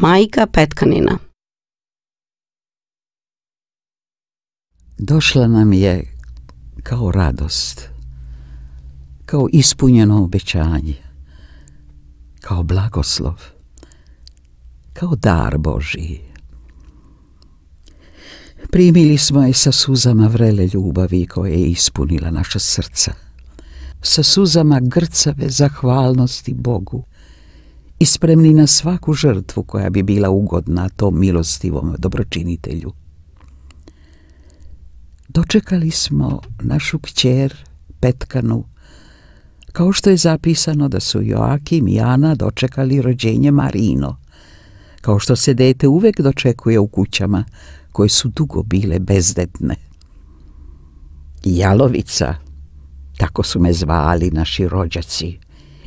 Majka Petkanina. Došla nam je kao radost, kao ispunjeno obećanje, kao blagoslov, kao dar Božji. Primili smo je sa suzama vrele ljubavi koja je ispunila naša srca, sa suzama grcave zahvalnosti Bogu i spremni na svaku žrtvu koja bi bila ugodna tom milostivom dobročinitelju. Dočekali smo našu kćer Petkanu, kao što je zapisano da su Joakim i Ana dočekali rođenje Marino, kao što se dete uvek dočekuje u kućama koje su dugo bile bezdetne. Jalovica, tako su me zvali naši rođaci,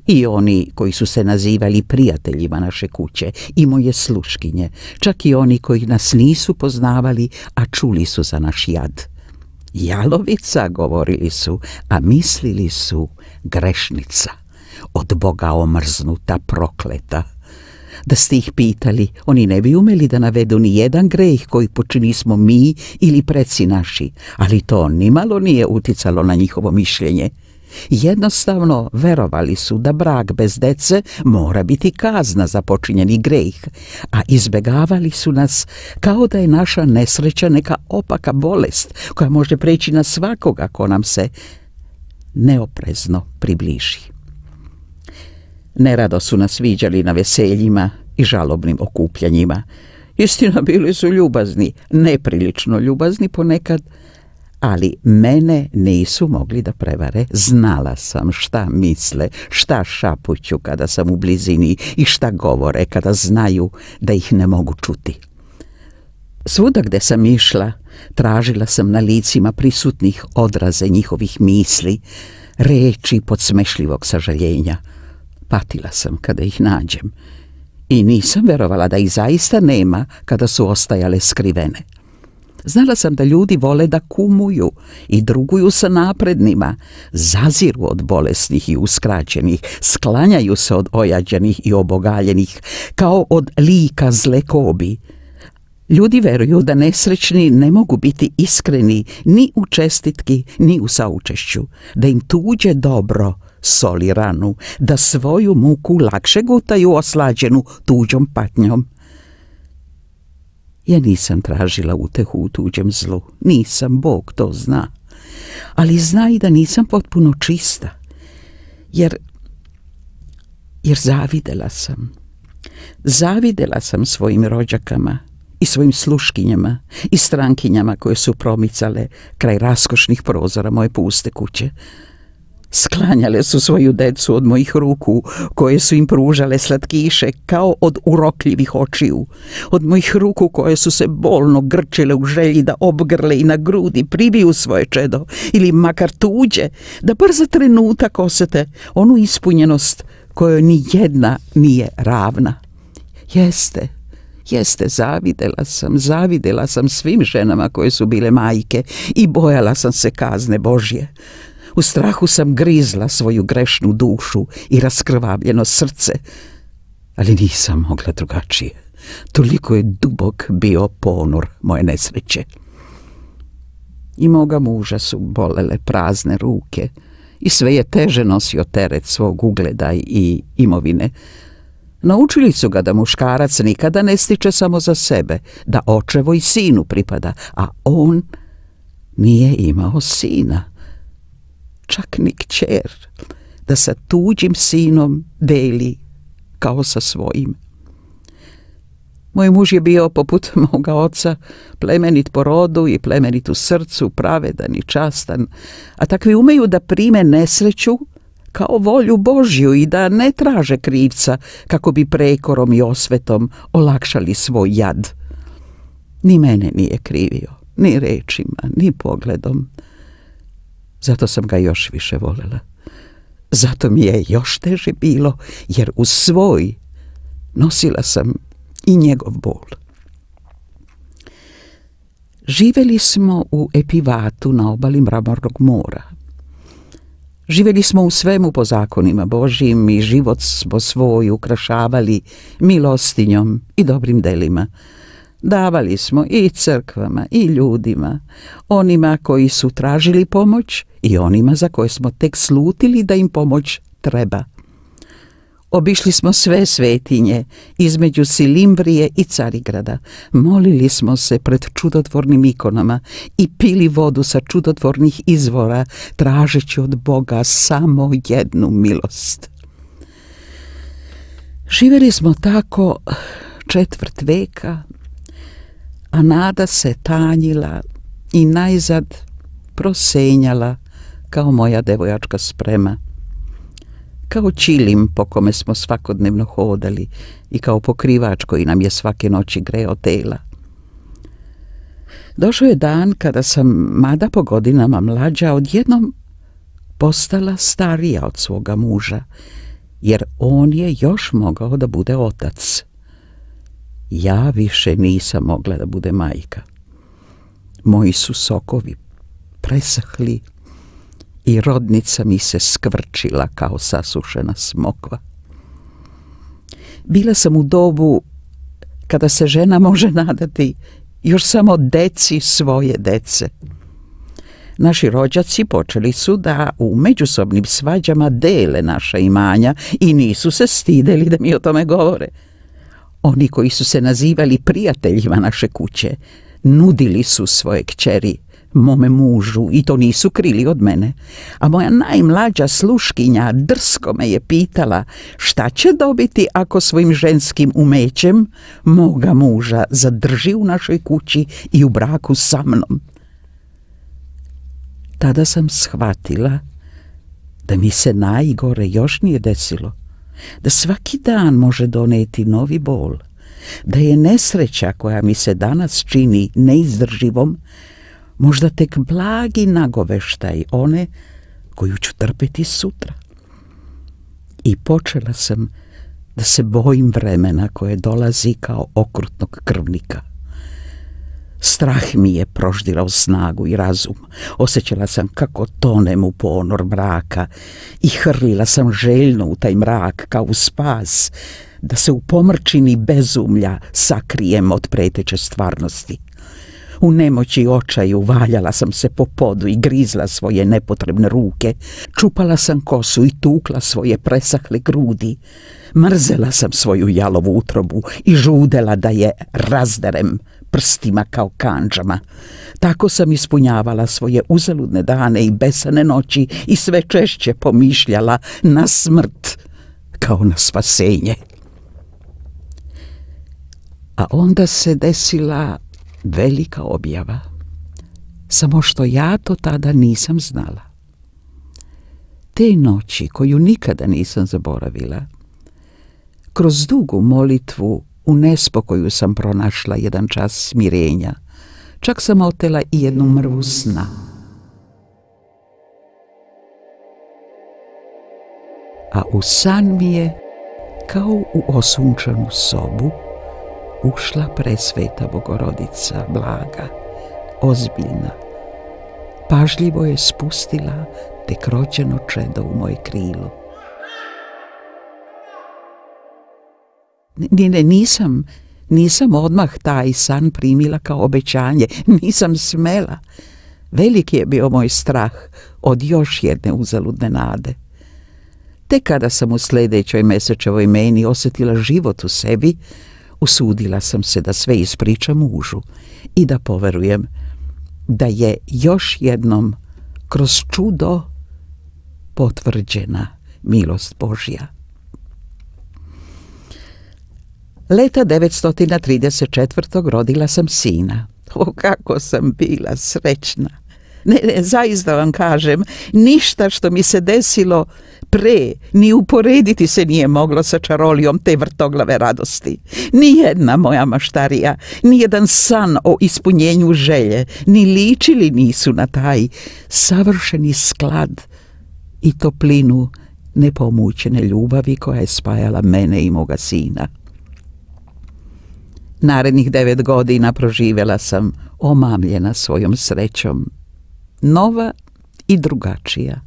i oni koji su se nazivali prijateljima naše kuće, i moje sluškinje, čak i oni koji nas nisu poznavali, a čuli su za naš jad. Jalovica, govorili su, a mislili su grešnica, od Boga omrznuta, prokleta. Da ste ih pitali, oni ne bi umeli da navedu ni jedan greh koji počinimo mi ili preci naši, ali to nimalo nije uticalo na njihovo mišljenje. Jednostavno verovali su da brak bez dece mora biti kazna za počinjeni greh, a izbegavali su nas kao da je naša nesreća neka opaka bolest koja može preći na svakoga ko nam se neoprezno približi. Nerado su nas viđali na veseljima i žalobnim okupljanjima. Istina, bili su ljubazni, neprilično ljubazni ponekad, ali mene nisu mogli da prevare. Znala sam šta misle, šta šapuću kada sam u blizini i šta govore kada znaju da ih ne mogu čuti. Svuda gde sam išla, tražila sam na licima prisutnih odraze njihovih misli, reči podsmešljivog sažaljenja. Patila sam kada ih nađem i nisam verovala da ih zaista nema kada su ostajale skrivene. Znala sam da ljudi vole da kumuju i druguju sa naprednima, zaziru od bolesnih i uskraćenih, sklanjaju se od ojađenih i obogaljenih, kao od lika zle kobi. Ljudi veruju da nesrećni ne mogu biti iskreni ni u čestitki, ni u saučešću, da im tuđe dobro soli ranu, da svoju muku lakše gutaju oslađenu tuđom patnjom. Ja nisam tražila utehu u tuđem zlu, nisam, Bog to zna, ali zna i da nisam potpuno čista, jer zavidela sam svojim rođakama i svojim sluškinjama i strankinjama koje su promicale kraj raskošnih prozora moje puste kuće. Sklanjale su svoju decu od mojih ruku, koje su im pružale slatkiše kao od urokljivih očiju, od mojih ruku koje su se bolno grčile u želji da obgrle i na grudi pribiju svoje čedo, ili makar tuđe, da bar za trenutak osete onu ispunjenost kojoj ni jedna nije ravna. Jeste, zavidela sam svim ženama koje su bile majke i bojala sam se kazne Božje. U strahu sam grizla svoju grešnu dušu i raskrvavljeno srce, ali nisam mogla drugačije. Toliko je dubok bio ponor moje nesreće. I moga muža su bolele prazne ruke i sve je teže nosio teret svog ugleda i imovine. Naučili su ga da muškarac nikada ne stiče samo za sebe, da očevo i sinu pripada, a on nije imao sina, čak ni kćer, da sa tuđim sinom deli kao sa svojim. Moj muž je bio poput moga oca, plemenit po rodu i plemenit u srcu, pravedan i častan, a takvi umeju da prime nesreću kao volju Božju i da ne traže krivca kako bi prekorom i osvetom olakšali svoj jad. Ni mene nije krivio, ni rečima, ni pogledom. Zato sam ga još više volela. Zato mi je još teže bilo, jer uz svoj nosila sam i njegov bol. Živeli smo u Epivatu na obali Mramornog mora. Živjeli smo u svemu po zakonima Božjim i život smo svoj ukrašavali milostinjom i dobrim delima. Davali smo i crkvama i ljudima, onima koji su tražili pomoć i onima za koje smo tek slutili da im pomoć treba. Obišli smo sve svetinje između Silimvrije i Carigrada. Molili smo se pred čudotvornim ikonama i pili vodu sa čudotvornih izvora, tražeći od Boga samo jednu milost. Živjeli smo tako 1/4 veka, a nada se tanjila i najzad prosenjala kao moja devojačka sprema. Kao čilim po kome smo svakodnevno hodali i kao pokrivač koji nam je svake noći greo tela. Došao je dan kada sam, mada po godinama mlađa, odjednom postala starija od svoga muža, jer on je još mogao da bude otac. Ja više nisam mogla da bude majka. Moji su sokovi presahli i rodnica mi se skvrčila kao sasušena smokva. Bila sam u dobu kada se žena može nadati još samo deci svoje dece. Naši rođaci počeli su da u međusobnim svađama dele naša imanja i nisu se stideli da mi o tome govore. Oni koji su se nazivali prijateljima naše kuće nudili su svoje kćeri mome mužu i to nisu krili od mene, a moja najmlađa sluškinja drsko me je pitala šta će dobiti ako svojim ženskim umećem moga muža zadrži u našoj kući i u braku sa mnom. Tada sam shvatila da mi se najgore još nije desilo, da svaki dan može doneti novi bol, da je nesreća koja mi se danas čini neizdrživom možda tek blagi nagoveštaj one koju ću trpeti sutra. I počela sam da se bojim vremena koje dolazi kao okrutnog krvnika. Strah mi je proždirao snagu i razum. Osjećala sam kako tonem u ponor mraka i hrlila sam željno u taj mrak kao u spas, da se u pomrčini bezumlja sakrijem od preteće stvarnosti. U nemoći i očaju valjala sam se po podu i grizla svoje nepotrebne ruke. Čupala sam kosu i tukla svoje presahle grudi. Mrzela sam svoju jalovu utrobu i žudela da je razderem prstima kao kandžama. Tako sam ispunjavala svoje uzaludne dane i besane noći i sve češće pomišljala na smrt kao na spasenje. A onda se desila velika objava, samo što ja to tada nisam znala. Te noći, koju nikada nisam zaboravila, kroz dugu molitvu u nespokoju sam pronašla jedan čas smirenja. Čak sam otela i jednu mrvu sna. A u san mi je, kao u osunčanu sobu, ušla presveta Bogorodica, blaga, ozbiljna. Pažljivo je spustila tek rođeno čedo u moje krilo. Nisam odmah taj san primila kao obećanje, nisam smela. Veliki je bio moj strah od još jedne uzaludne nade. Tek kada sam u sljedećoj mesečevoj meni osjetila život u sebi, usudila sam se da sve ispričam mužu i da poverujem da je još jednom kroz čudo potvrđena milost Božja. Leta 934. rodila sam sina. O, kako sam bila srećna! Ne, zaista vam kažem, ništa što mi se desilo pre, ni uporediti se nije moglo sa čarolijom te vrtoglave radosti. Nijedna moja maštarija, nijedan san o ispunjenju želje, ni ličili nisu na taj savršeni sklad i toplinu nepomućene ljubavi koja je spajala mene i moga sina. Narednih 9 godina proživjela sam omamljena svojom srećom, nova i drugačija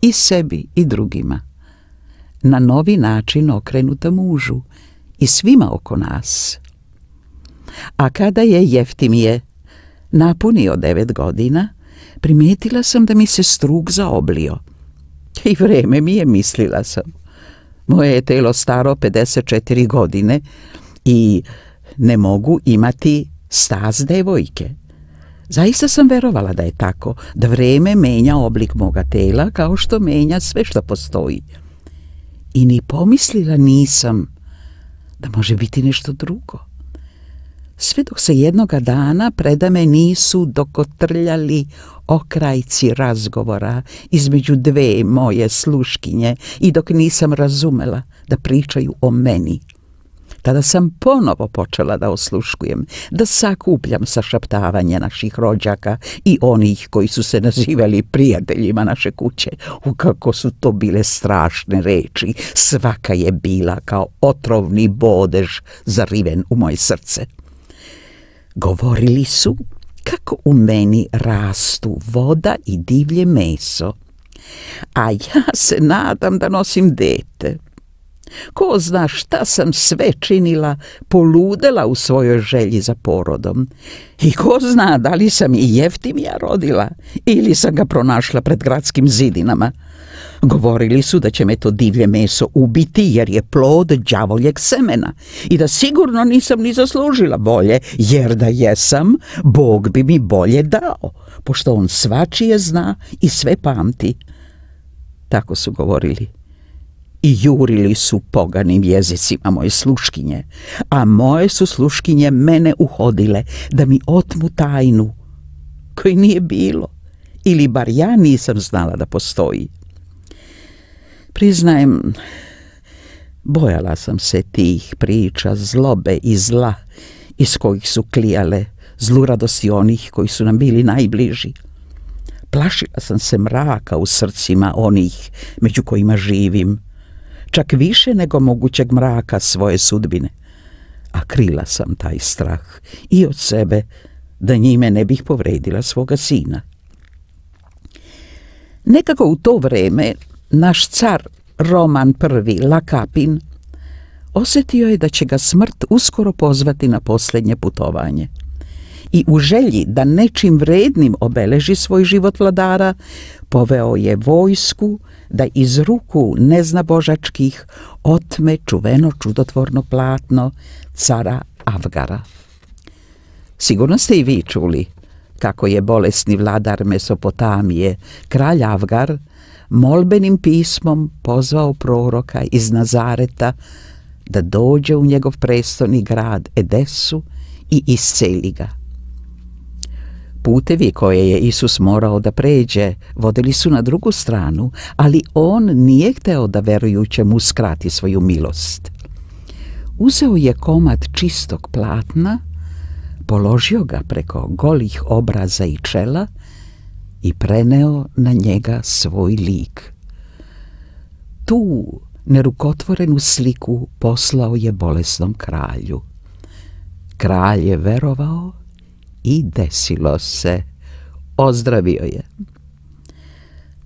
i sebi i drugima, na novi način okrenuta mužu i svima oko nas. A kada je Jeftimije napunio 9 godina, primijetila sam da mi se struk zaoblio. I vreme mi je, mislila sam. Moje je telo staro 54 godine i ne mogu imati stas devojke. Zaista sam verovala da je tako, da vreme menja oblik moga tela kao što menja sve što postoji. I ni pomislila nisam da može biti nešto drugo. Sve dok se jednoga dana predame nisu dokotrljali okrajci razgovora između dve moje sluškinje i dok nisam razumela da pričaju o meni. Tada sam ponovo počela da osluškujem, da sakupljam sašaptavanje naših rođaka i onih koji su se nazivali prijateljima naše kuće. Kako su to bile strašne reči, svaka je bila kao otrovni bodež zariven u moje srce. Govorili su kako u meni rastu voda i divlje meso, a ja se nadam da nosim dete. Ko zna šta sam sve činila, poludela u svojoj želji za porodom. I ko zna da li sam i Jeftimija rodila ili sam ga pronašla pred gradskim zidinama. Govorili su da će me to divlje meso ubiti jer je plod đavoljeg semena i da sigurno nisam ni zaslužila bolje, jer da jesam, Bog bi mi bolje dao, pošto on svačije zna i sve pamti. Tako su govorili. I jurili su poganim jezicima moje sluškinje, a moje su sluškinje mene uhodile da mi otmu tajnu koji nije bilo, ili bar ja nisam znala da postoji. Priznajem, bojala sam se tih priča zlobe i zla iz kojih su klijale zluradosti onih koji su nam bili najbliži. Plašila sam se mraka u srcima onih među kojima živim, čak više nego mogućeg mraka svoje sudbine, a krila sam taj strah i od sebe da njime ne bih povredila svoga sina. Nekako u to vreme naš car Roman I Lakapin osjetio je da će ga smrt uskoro pozvati na posljednje putovanje. I u želji da nečim vrednim obeleži svoj život vladara, poveo je vojsku da iz ruku neznabožačkih otme čuveno čudotvorno platno cara Avgara. Sigurno ste i vi čuli kako je bolesni vladar Mesopotamije, kralj Avgar, molbenim pismom pozvao proroka iz Nazareta da dođe u njegov prestolni grad Edesu i isceli ga. Putevi koje je Isus morao da pređe vodili su na drugu stranu, ali on nije hteo da verujućem uskrati svoju milost. Uzeo je komad čistog platna, položio ga preko golih obraza i čela i preneo na njega svoj lik. Tu nerukotvorenu sliku poslao je bolesnom kralju. Kralj je verovao i desilo se. Ozdravio je.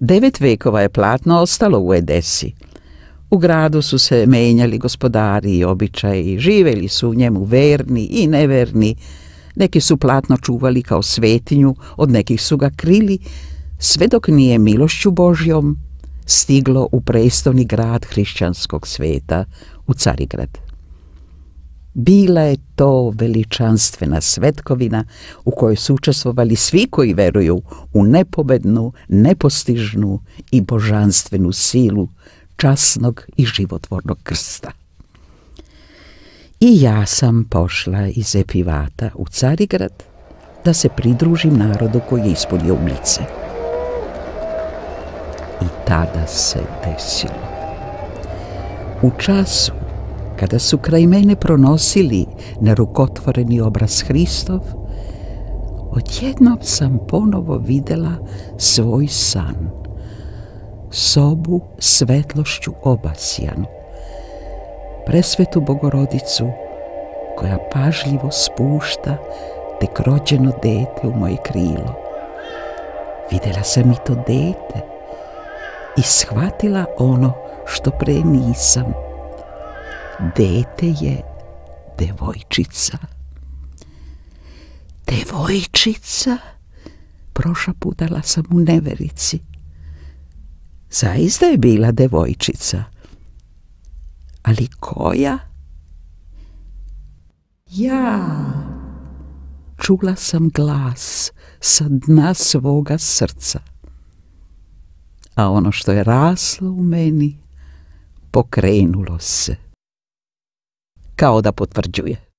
9 vekova je platno ostalo u Edesi. U gradu su se menjali gospodari i običaji, živeli su u njemu verni i neverni. Neki su platno čuvali kao svetinju, od nekih su ga krili, sve dok nije milošću Božjom stiglo u prestolni grad hrišćanskog sveta, u Carigrad. Bila je to veličanstvena svetkovina u kojoj su učestvovali svi koji veruju u nepobednu, nepostižnu i božanstvenu silu časnog i životvornog krsta. I ja sam pošla iz Epivata u Carigrad da se pridružim narodu koji je ispunio ulice. I tada se desilo. U času kada su kraj mene pronosili nerukotvoreni obraz Hristov, odjednom sam ponovo videla svoj san, sobu svetlošću obasjanu, presvetu Bogorodicu koja pažljivo spušta tek rođeno dete u moje krilo. Videla sam i to dete, i shvatila ono što pre nisam. Dete je devojčica. Devojčica? Prošaputala sam u neverici. Zaista je bila devojčica. Ali koja? Ja. Čula sam glas sa dna svoga srca. A ono što je raslo u meni pokrenulo se. Kao da potvrđuje.